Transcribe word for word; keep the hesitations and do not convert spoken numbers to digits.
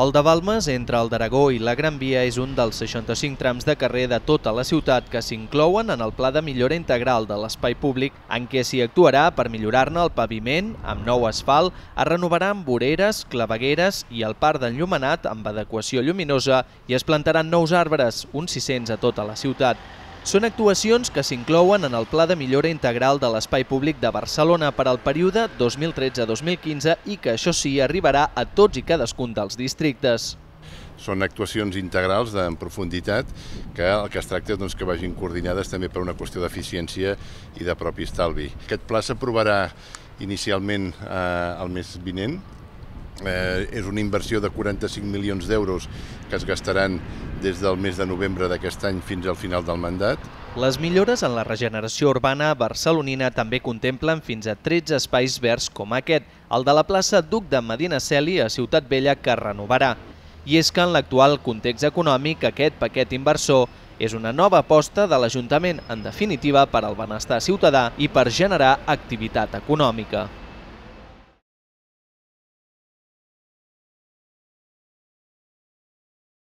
El de Balmes, entre el d'Aragó i la Gran Via, és un dels seixanta-cinc trams de carrer de tota la ciutat que s'inclouen en el Pla de Millora Integral de l'Espai Públic, en què s'hi actuarà per millorar-ne el paviment amb nou asfalt, es renovaran voreres, clavegueres i el parc d'enllumenat amb adequació lluminosa i es plantaran nous arbres, uns sis-cents a tota la ciutat. Són actuacions que s'inclouen en el Pla de Millora Integral de l'Espai Públic de Barcelona per al període dos mil tretze dos mil quinze i que, això sí, arribarà a tots i cadascun dels districtes. Són actuacions integrals en profunditat que el que es tracta és que vagin coordinades també per una qüestió d'eficiència i de propi estalvi. Aquest pla s'aprovarà inicialment eh, el mes vinent. Eh, és una inversió de quaranta-cinc milions d'euros que es gastaran des del mes de novembre d'aquest any fins al final del mandat. Les millores en la regeneració urbana barcelonina també contemplen fins a tretze espais verds com aquest, el de la plaça Duc de Medinaceli a Ciutat Vella, que es renovarà. I és que en l'actual context econòmic aquest paquet inversor és una nova aposta de l'Ajuntament, en definitiva per al benestar ciutadà i per generar activitat econòmica.